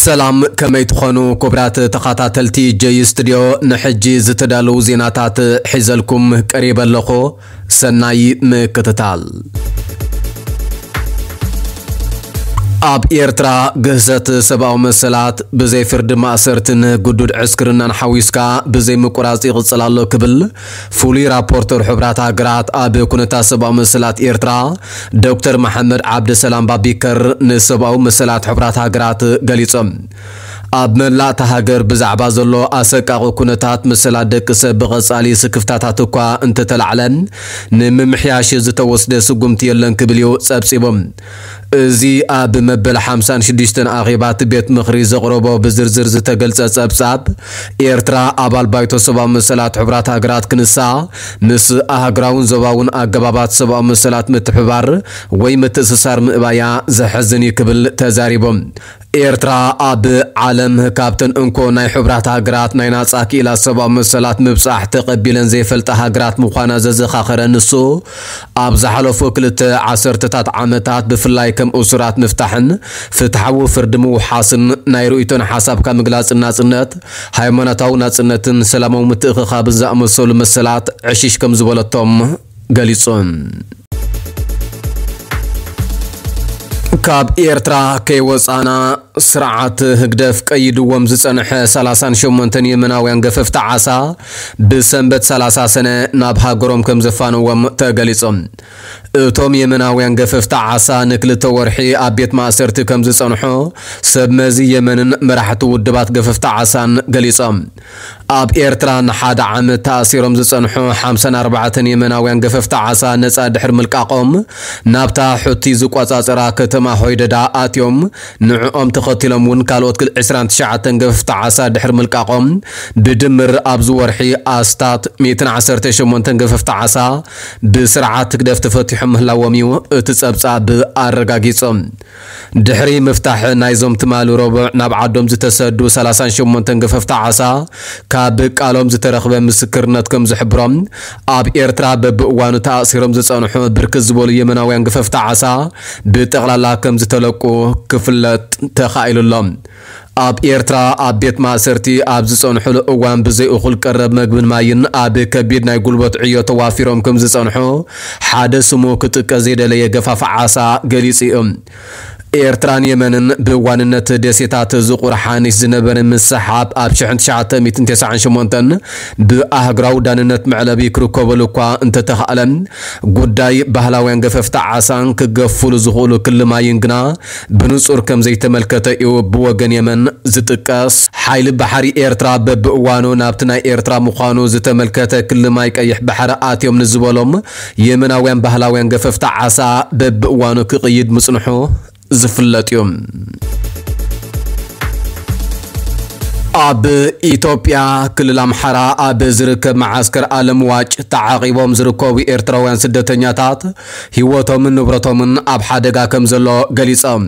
ሰላም፣ ከመይ ትኾኑ ክቡራት ተኸታተልቲ ጀይ ስቱድዮ? ንሕጂ ዝተዳለዉ ዜናታት ሒዘልኩም ቀሪበ ኣለኹ። ሰናይ ምክትታል። ኣብ ኤርትራ ግህሰት ሰብኣዊ መሰላት ብዘይ ፍርዲ ማእሰርትን ግዱድ ዕስክርናን ሓዊስካ ብዘይ ምቁራጽ ይቕጽል ኣሎ ክብል ፍሉይ ራፖርተር ሕቡራት ሃገራት ኣብ ኩነታት ሰብኣዊ መሰላት ኤርትራ ዶክተር መሓመድ ዓብደሰላም ባቢከር ንሰብኣዊ መሰላት ሕቡራት ሃገራት ገሊጾም። ኣብ መላእ እታ ሃገር ብዛዕባ ዘሎ ኣሰቃቒ ኩነታት መሰላት ደቂ ሰብ ብቐጻሊ ስክፍታታት እኳ እንተተላዕለ፣ ንምምሕያሽ ዝተወስደ ስጉምቲ የለን ክብል እዩ ጸብጺቡ። እዚ ኣብ መበል ሓምሳን ሽዱሽተን ኣኼባ እቲ ቤት ምኽሪ ዘቕረቦ ብዝርዝር ዝተገልጸ ጸብጻብ፣ ኤርትራ ኣባል ባይቶ ሰብኣዊ መሰላት ሕቡራት ሃገራት ክንሳ፣ ምስ ኣህጉራውን ዞባውን ኣገባባት ሰብኣዊ መሰላት ምትሕብባር ወይ ምትእስሳር ምእባያ ዘሕዝን እዩ ክብል ተዛሪቡ። ኤርትራ ኣብ ዓለም ካብተን እንኮ ናይ ሕቡራት ሃገራት ናይ ናጻ ክኢላ ሰብኣዊ መሰላት ምብጻሕ ተቐቢለን ዘይፈልጣ ሃገራት ምዃና ዘዘኻኸረ ንሱ፣ ኣብ ዝሓለፉ ክልተ ዓሰርተታት ዓመታት ብፍላይ ከም እሱራት ምፍታሕን ፍትሓዊ ፍርዲ ምውሓስን ናይ ርእይቶን ሓሳብካ ምግላጽን ናጽነት፣ ሃይማኖታዊ ናጽነትን ሰላማዊ ምትእኽኻብን ዝኣመሰሉ መሰላት ዕሽሽ ከም ዝበለቶም ገሊጹ። ካብ ኤርትራ ከይወጻና ስርዓት ህግደፍ ቀይድዎም ዝጸንሐ ሰላሳን ሸሞንተን የመናውያን ገፈፍቲ ዓሳ ብሰንበት ሰላሳ ሰነ ናብ ሃገሮም ከም ዘፋነዎም ተገሊጹ። እቶም የመናውያን ገፈፍቲ ዓሳ ንክልተ ወርሒ ኣብ ቤት ማእሰርቲ ከም ዝጸንሑ ሰብ መዚ የመንን መራሕቲ ውድባት ገፈፍቲ ዓሳን ገሊጾም። ኣብ ኤርትራ ንሓደ ዓመት ተኣሲሮም ዝጸንሑ ሓምሳን ኣርባዕተን የመናውያን ገፈፍቲ ዓሳ ነጻ ድሕሪ ምልቃቖም፣ ናብታ ሑቲ ዝቆጻጸራ ከተማ ሆይደዳ ኣትዮም። ንዕኦም ተኸቲሎም እውን ካልኦት ክል-፣ ዕስራን ትሽዓተን ገፈፍቲ ዓሳ ድሕሪ ምልቃቖም፣ ብድምር ኣብዚ ወርሒ ኣስታት ሚእትን ዓሰርተ ሸሞንተን ገፈፍቲ ዓሳ ብስርዓት ህግደፍ ተፈቲሖም ምህላዎም እዩ እቲ ጸብጻብ ኣረጋጊጹ። ድሕሪ ምፍታሕ ናይዞም ትማሊ ረቡዕ ናብ ዓዶም ዝተሰዱ ሰላሳን ሸሞንተን ገፈፍቲ ዓሳ፣ ካብ ቃሎም ዝተረኽበ ምስክርነት ከም ዝሕብሮም፣ ኣብ ኤርትራ በብእዋኑ ተኣሲሮም ዝጸንሑ ብርክት ዝበሉ የመናውያን ገፈፍቲ ዓሳ ብጠቕላላ ከም ዝተለቁ ክፍለጥ ተኻኢሉ ኣሎ። ኣብ ኤርትራ ኣብ ቤት ማእሰርቲ ኣብ ዝጸንሑሉ እዋን ብዘይ እኹል ቀረብ መግብን ማይን ኣብ ከቢድ ናይ ጉልበት ዕዮ ተዋፊሮም ከም ዝጸንሑ ሓደ ስሙ ክጥቀስ ዘይደለየ ገፋፊ ዓሳ ገሊጹ እዩ። ኤርትራን የመንን ብዋንነት ደሴታት ዝቑር ሓኒሽ ዝነበረ ምስሕሓብ ኣብ ሽሕን ትሽዓተ ሚእትን ተስዓን ሸሞንተን ብኣህጉራዊ ዳንነት መዕለቢ ክርከበሉ እኳ እንተተኻእለ፣ ጉዳይ ባህላውያን ገፈፍቲ ዓሳን ክገፍሉ ዝኽእሉ ክሊ ማይን ግና ብንጹር ከም ዘይተመልከተ እዩ ብወገን የመን ዝጥቀስ። ሓይሊ ባሕሪ ኤርትራ በብእዋኑ ናብቲ ናይ ኤርትራ ምዃኑ ዝተመልከተ ክሊ ማይ ቀይሕ ባሕሪ ኣትዮም ንዝበሎም የመናውያን ባህላውያን ገፈፍቲ ዓሳ በብእዋኑ ክቕይድ ምጽንሑ ዝፍለጥ እዩ። ኣብ ኢትዮጵያ ክልል ኣምሓራ ኣብ ዝርከብ መዓስከር ኣለምዋጭ ተዓቒቦም ዝርከቡ ኤርትራውያን ስደተኛታት ህይወቶምን ንብረቶምን ኣብ ሓደጋ ከም ዘሎ ገሊጾም።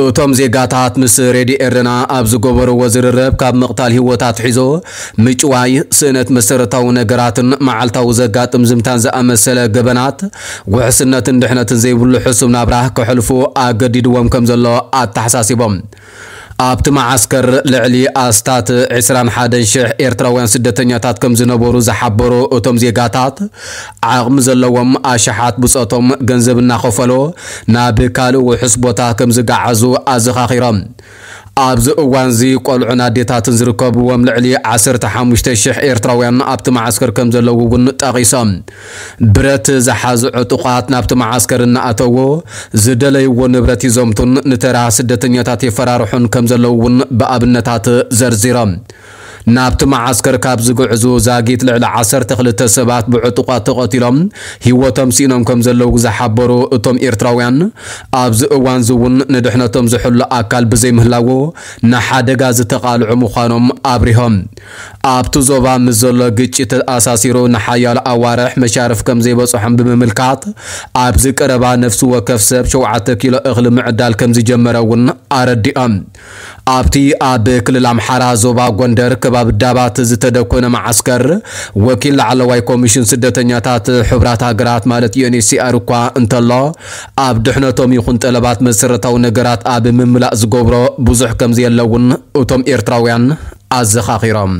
እቶም ዜጋታት ምስ ሬድዮ ኤረና ኣብ ዝገበርዎ ዝርርብ፣ ካብ ምቕታል ህይወት ኣትሒዞ ምጭዋይ፣ ስእነት መሰረታዊ ነገራትን መዓልታዊ ዘጋጥም ዝምታን ዝኣመሰለ ገበናት ውሕስነትን ድሕነትን ዘይብሉ ሕሱም ናብራ ከሕልፉ ኣገዲድዎም ከም ዘሎ ኣተሓሳሲቦም። ኣብቲ መዓስከር ልዕሊ ኣስታት ዕስራን ሓደን ሽሕ ኤርትራውያን ስደተኛታት ከም ዝነበሩ ዝሓበሩ እቶም ዜጋታት፣ ዓቕሚ ዘለዎም ኣሽሓት ብጾቶም ገንዘብ እናኸፈሉ ናብ ካልእ ውሑስ ቦታ ከም ዝገዓዙ ኣዘኻኺሮም። ኣብዚ እዋንዚ ቆልዑን ኣዴታትን ዝርከብዎም ልዕሊ ዓሰርተ ሓሙሽተ ሽሕ ኤርትራውያን ኣብቲ መዓስከር ከም ዘለዉ እውን ጠቒሶም። ብረት ዝሓዙ ዕጡቓት ናብቲ መዓስከር እናኣተዉ ዝደለይዎ ንብረት ይዘምቱን ንተራ ስደተኛታት የፈራርሑን ከም ዘለዉ እውን ብኣብነታት ዘርዚሮም። ናብቲ መዓስከር ካብ ዝግዕዙ ዛጊት ልዕሊ ዓሰርተ ክልተ ሰባት ብዕጡቓት ተቐቲሎም ህይወቶም ስኢኖም ከም ዘለዉ ዝሓበሩ እቶም ኤርትራውያን፣ ኣብዚ እዋንዚ እውን ንድሕነቶም ዝሕሉ ኣካል ብዘይምህላዉ ንሓደጋ ዝተቓልዑ ምዃኖም ኣብሪሆም። ኣብቲ ዞባ ምስ ዘሎ ግጭት ተኣሳሲሩ ንሓያሎ ኣዋርሕ መሻርፍ ከም ዘይበጽሖም ብምምልካት፣ ኣብዚ ቀረባ ነፍሲ ወከፍ ሰብ ሸውዓተ ኪሎ እኽሊ ምዕዳል ከም ዝጀመረ እውን ኣረዲኦም። ኣብቲ ኣብ ክልል ኣምሓራ ዞባ ጎንደር ከባቢ ዳባት ዝተደኮነ መዓስከር ወኪል ላዕለዋይ ኮሚሽን ስደተኛታት ሕቡራት ሃገራት ማለት ዩ ኤን ኤች ሲ ኣር እኳ እንተሎ፣ ኣብ ድሕነቶም ይኹን ጠለባት መሰረታዊ ነገራት ኣብ ምምላእ ዝገብሮ ብዙሕ ከም ዘየለ እውን እቶም ኤርትራውያን ኣዘኻኺሮም።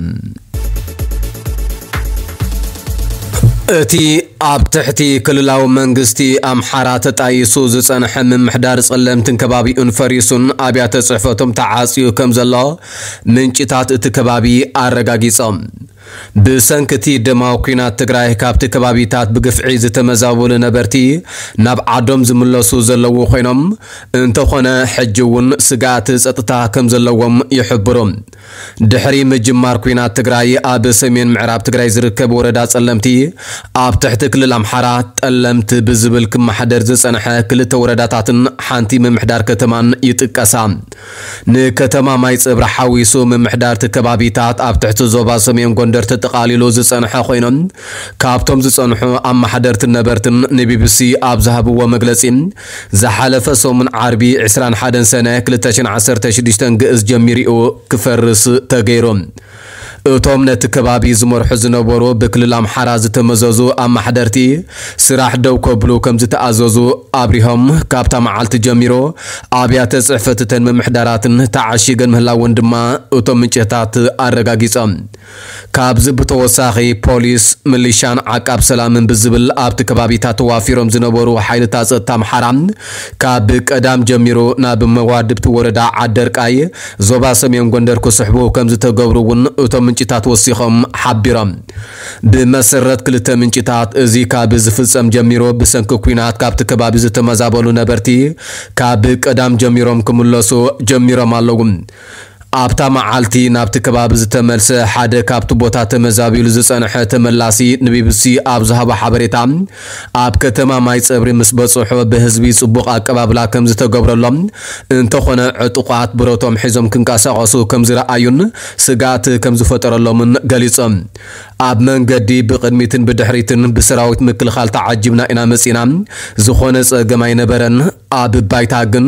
እቲ ኣብ ትሕቲ ክልላዊ መንግስቲ ኣምሓራ ተጣይሱ ዝጸንሐ ምምሕዳር ጸለምትን ከባቢኡን ፈሪሱን ኣብያተ ጽሕፈቶም ተዓጽዩ ከም ዘሎ ምንጭታት እቲ ከባቢ ኣረጋጊጾም። ብሰንኪ እቲ ደማዊ ኲናት ትግራይ ካብቲ ከባቢታት ብግፍዒ ዝተመዛበሉ ነበርቲ ናብ ዓዶም ዝምለሱ ዘለዉ ኮይኖም፣ እንተኾነ ሕጂ እውን ስግኣት ጸጥታ ከም ዘለዎም ይሕብሩ። ድሕሪ ምጅማር ኲናት ትግራይ ኣብ ሰሜን ምዕራብ ትግራይ ዝርከብ ወረዳ ጸለምቲ ኣብ ትሕቲ ክልል ኣምሓራ ጠለምቲ ብዝብል ክመሓደር ዝጸንሐ ክልተ ወረዳታትን ሓንቲ ምምሕዳር ከተማን ይጥቀሳ። ንከተማ ማይ ጸብሪ ሓዊሱ ምምሕዳርቲ ከባቢታት ኣብ ትሕቲ ዞባ ሰሜን ጎንደር ተጠቓሊሉ ዝጸንሐ ኮይኖም፣ ካብቶም ዝጸንሑ ኣመሓደርትን ነበርትን ንቢቢሲ ኣብ ዝሃብዎ መግለጺ፣ ዝሓለፈ ሰሙን ዓርቢ ዕስራን ሓደን ሰነ ክልተ ሽሕን ዓሰርተ ሽዱሽተን ግእዝ ጀሚሩ እዩ ክፈርስ ተገይሩ። እቶም ነቲ ከባቢ ዝመርሑ ዝነበሩ ብክልል ኣምሓራ ዝተመዘዙ ኣመሓደርቲ ስራሕ ደው ከብሉ ከም ዝተኣዘዙ ኣብሪሆም፣ ካብታ መዓልቲ ጀሚሩ ኣብያተ ጽሕፈት እተን ምምሕዳራትን ተዓሺገን ምህላወን ድማ እቶም ምንጭታት ኣረጋጊጾም። ካብዚ ብተወሳኺ ፖሊስ፣ ምሊሻን ዓቃብ ሰላምን ብዝብል ኣብቲ ከባቢታት ተዋፊሮም ዝነበሩ ሓይልታት ጸጥታ ኣምሓራ ካብ ቀዳም ጀሚሩ ናብ መዋድብቲ ወረዳ ዓደርቃይ ዞባ ሰሜን ጎንደር ክስሕቡ ከም ዝተገብሩ እውን እቶም ምንጭታት ወሲኾም ሓቢሮም። ብመሰረት ክልተ ምንጭታት፣ እዚ ካብ ዝፍጸም ጀሚሩ ብሰንኪ ኲናት ካብቲ ከባቢ ዝተመዛበሉ ነበርቲ ካብ ቀዳም ጀሚሮም ክምለሱ ጀሚሮም ኣለዉ። ኣብታ መዓልቲ ናብቲ ከባቢ ዝተመልሰ ሓደ ካብቲ ቦታ ተመዛቢሉ ዝጸንሐ ተመላሲ ንቢቢሲ ኣብ ዝሃቦ ሓበሬታ፣ ኣብ ከተማ ማይ ጸብሪ ምስ በጽሑ ብህዝቢ ጽቡቕ ኣቀባብላ ከም ዝተገብረሎም፣ እንተኾነ ዕጡቓት ብረቶም ሒዞም ክንቀሳቐሱ ከም ዝረኣዩን ስግኣት ከም ዝፈጠረሎምን ገሊጾም። ኣብ መንገዲ ብቕድሚትን ብድሕሪትን ብሰራዊት ምክልኻል ተዓጂብና ኢና መጺና፣ ዝኾነ ጸገም ኣይነበረን። ኣብ ባይታ ግን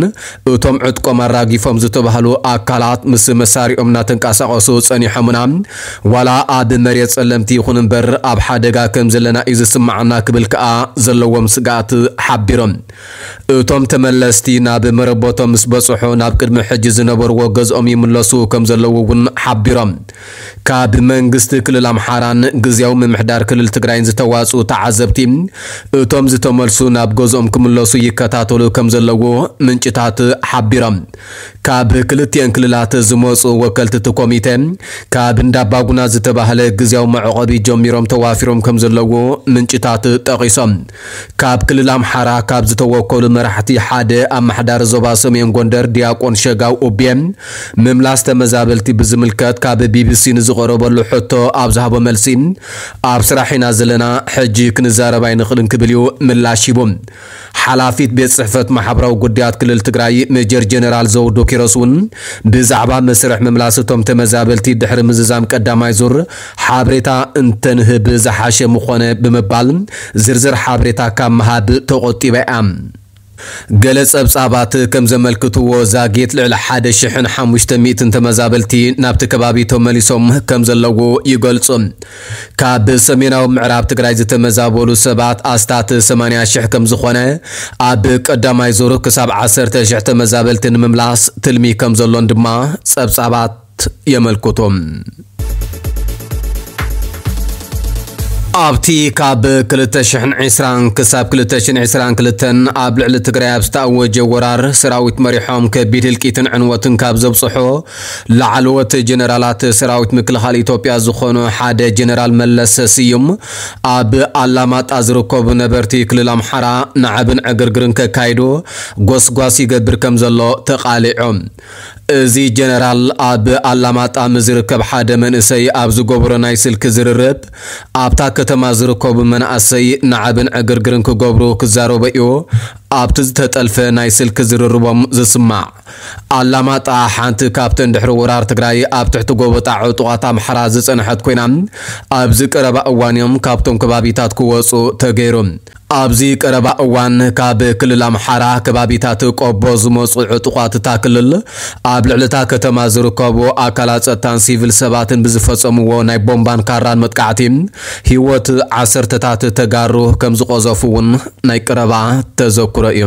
እቶም ዕጥቆም ኣራጊፎም ዝተባህሉ ኣካላት ምስ መሳሪኦም እናተንቀሳቐሱ ጸኒሖምና፣ ዋላ ኣብ መሬት ጸለምቲ ይኹን እምበር ኣብ ሓደጋ ከም ዘለና እዩ ዝስምዓና ክብል ከኣ ዘለዎም ስግኣት ሓቢሮም። እቶም ተመለስቲ ናብ መረበቶም ምስ በጽሑ ናብ ቅድሚ ሕጂ ዝነበርዎ ገዝኦም ይምለሱ ከም ዘለዉ እውን ሓቢሮም። ካብ መንግስቲ ክልል ኣምሓራን ግዝያዊ ምምሕዳር ክልል ትግራይን ዝተዋጽኡ ተዓዘብቲ፣ እቶም ዝተመልሱ ናብ ገዝኦም ክምለሱ ይከታተሉ ከም ዘለዉ ምንጭታት ሓቢሮም። ካብ ክልቲኤን ክልላት ዝመጹ ወከልቲ እቲ ኮሚተ፣ ካብ እንዳባጉና ዝተባህለ ግዝያዊ መዕቆቢ ጀሚሮም ተዋፊሮም ከም ዘለዉ ምንጭታት ጠቒሶም። ካብ ክልል ኣምሓራ ካብ ዝተወከሉ መራሕቲ ሓደ ኣመሓዳሪ ዞባ ሰሜን ጎንደር ዲያቆን ሸጋው ኡቤ፣ ምምላስ ተመዛበልቲ ብዝምልከት ካብ ቢቢሲ ንዝቐረበሉ ሕቶ ኣብ ዝሃቦ መልሲ፣ ኣብ ስራሕ ኢና ዘለና፣ ሕጂ ክንዛረብ ኣይንኽእልን ክብል እዩ ምላሽ ሂቡ። ሓላፊት ቤት ጽሕፈት ማሕበራዊ ጉዳያት ክልል ትግራይ ሜጀር ጀነራል ዘውዱ ኪሮስ እውን ብዛዕባ መስርሕ ምምላስ እቶም ተመዛበልቲ ድሕሪ ምዝዛም ቀዳማይ ዙር ሓበሬታ እንተንህብ ዝሓሸ ምኾነ ብምባል ዝርዝር ሓበሬታ ካብ ምሃብ ተቖጢባ እያ። ገለ ጸብጻባት ከም ዘመልክትዎ ዛጊት ልዕሊ ሓደ ሽሕን ሓሙሽተ ሚእትን ተመዛበልቲ ናብቲ ከባቢ ተመሊሶም ከም ዘለዉ ይገልጹ። ካብ ሰሜናዊ ምዕራብ ትግራይ ዝተመዛበሉ ሰባት ኣስታት ሰማንያ ሽሕ ከም ዝኾነ፣ ኣብ ቀዳማይ ዙር ክሳብ ዓሰርተ ሽሕ ተመዛበልቲ ንምምላስ ትልሚ ከም ዘሎን ድማ ጸብጻባት የመልክቱ። ኣብቲ ካብ ክልተ ሽሕን ዕስራን ክሳብ ክልተ ሽሕን ዕስራን ክልተን ኣብ ልዕሊ ትግራይ ኣብ ዝተኣወጀ ወራር ሰራዊት መሪሖም ከቢድ ህልቂትን ዕንወትን ካብ ዘብጽሑ ላዕለዎት ጀነራላት ሰራዊት ምክልኻል ኢትዮጵያ ዝኾኑ ሓደ ጀነራል መለሰ ስዩም፣ ኣብ ኣላማጣ ዝርከቡ ነበርቲ ክልል ኣምሓራ ናዕብን ዕግርግርን ከካይዱ ጎስጓስ ይገብር ከም ዘሎ ተቓሊዑ። እዚ ጀነራል ኣብ ኣላማጣ ምስ ዝርከብ ሓደ መንእሰይ ኣብ ዝገብሮ ናይ ስልኪ ዝርርብ፣ ኣብታ ከተማ ዝርከቡ መናእሰይ ናዕብን ዕግርግርን ክገብሩ ክዛረቡ እዩ ኣብቲ ዝተጠልፈ ናይ ስልኪ ዝርርቦም ዝስማዕ። ኣላማጣ ሓንቲ ካብተን ድሕሪ ወራር ትግራይ ኣብ ትሕቲ ጎበጣ ዕጡቓት ኣምሓራ ዝጸንሐት ኮይና፣ ኣብዚ ቀረባ እዋን እዮም ካብቶም ከባቢታት ክወጹ ተገይሩ። ኣብዚ ቀረባ እዋን ካብ ክልል ኣምሓራ ከባቢታት ቆቦ ዝመፁ ዕጡቓት እታ ክልል ኣብ ልዕሊ እታ ከተማ ዝርከቡ ኣካላት ጸጥታን ሲቪል ሰባትን ብዝፈጸምዎ ናይ ቦምባን ካራን መጥቃዕቲ ህይወት ዓሰርተታት ተጋሩ ከም ዝቐዘፉ እውን ናይ ቀረባ ተዘክሮ እዩ።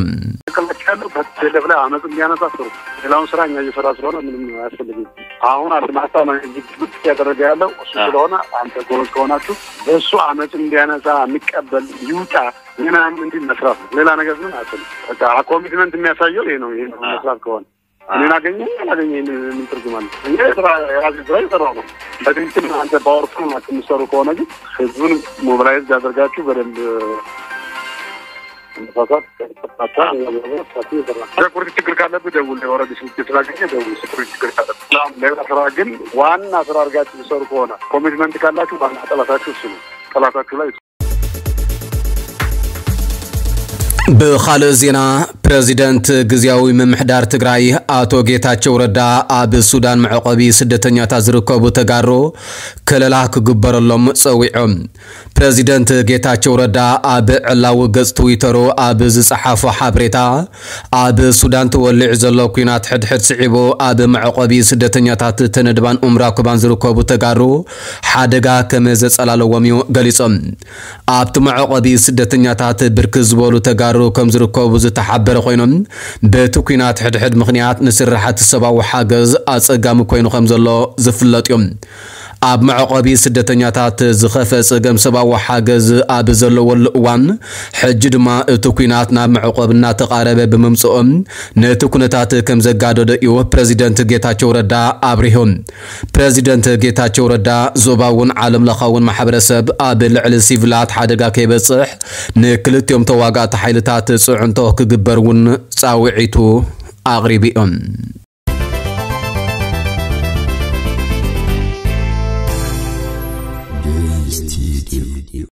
ያለው በቴሌፍ ላይ አመፅ እንዲያነሳ ጥሩ። ሌላውን ስራ እኛ እየሰራ ስለሆነ ምንም አያስፈልግም። አሁን አልማሳ ነው እንጂ ግብት እያደረገ ያለው እሱ ስለሆነ አንተ ጎበዝ ከሆናችሁ በእሱ አመፅ እንዲያነሳ የሚቀበል ይውጣ ምናምን እንዲህ መስራት ነው። ሌላ ነገር ምንም አያስፈልግም። በቃ ኮሚትመንት የሚያሳየው ይሄ ነው። ይሄ ነው መስራት ከሆነ እኔን አገኘ አላገኘ ምን ትርጉም አለ? እኔ ስራ የራሴ ስራ እየሰራሁ ነው። በትክክል አንተ ፓወርፉል ናችሁ የምትሰሩ ከሆነ ግን ህዝቡን ሞቢላይዝ ያደርጋችሁ በደንብ መነሳሳት። ሴኩሪቲ ችግር ካለብህ ደውል። ኦልሬዲ ስልክ ስላገኘ ደውል። ሴኩሪቲ ችግር ካለብህ ሌላ ስራ ግን ዋና ስራ አድርጋችሁ የምትሰሩ ከሆነ ኮሚትመንት ካላችሁ ዋና ጠላታችሁ እሱ ነው። ጠላታችሁ ላይ ብኻልእ ዜና፣ ፕረዚደንት ግዝያዊ ምምሕዳር ትግራይ ኣቶ ጌታቸው ረዳ ኣብ ሱዳን መዕቆቢ ስደተኛታት ዝርከቡ ተጋሩ ከለላ ክግበረሎም ጸዊዖም። ፕረዚደንት ጌታቸው ረዳ ኣብ ዕላዊ ገጽ ትዊተሩ ኣብ ዝጸሓፎ ሓበሬታ፣ ኣብ ሱዳን ተወሊዑ ዘሎ ኲናት ሕድሕድ ስዒቡ ኣብ መዕቆቢ ስደተኛታት ተነድባን ኡምራኩባን ዝርከቡ ተጋሩ ሓደጋ ከም ዘጸላለዎም እዩ ገሊጾም። ኣብቲ መዕቆቢ ስደተኛታት ብርክት ዝበሉ ተጋሩ ከም ዝርከቡ ዝተሓበረ ኮይኖም፣ በቲ ኲናት ሕድሕድ ምኽንያት ንስራሓት ሰብኣዊ ሓገዝ ኣጸጋሚ ኮይኑ ከም ዘሎ ዝፍለጥ እዩ። ኣብ መዕቆቢ ስደተኛታት ዝኸፈ ጸገም ሰብኣዊ ሓገዝ ኣብ ዘለወሉ እዋን፣ ሕጂ ድማ እቲ ኲናት ናብ መዕቆቢ እናተቓረበ ብምምጽኦም፣ ነቲ ኩነታት ከም ዘጋደዶ እዩ ፕረዚደንት ጌታቸው ረዳ ኣብሪሁ። ፕረዚደንት ጌታቸው ረዳ፣ ዞባውን ዓለም ለኻውን ማሕበረሰብ ኣብ ልዕሊ ሲቪላት ሓደጋ ከይበጽሕ ንክልቲኦም ተዋጋእቲ ሓይልታት ጽዕንቶ ክግበር እውን ጻውዒቱ ኣቕሪቡ እዩ።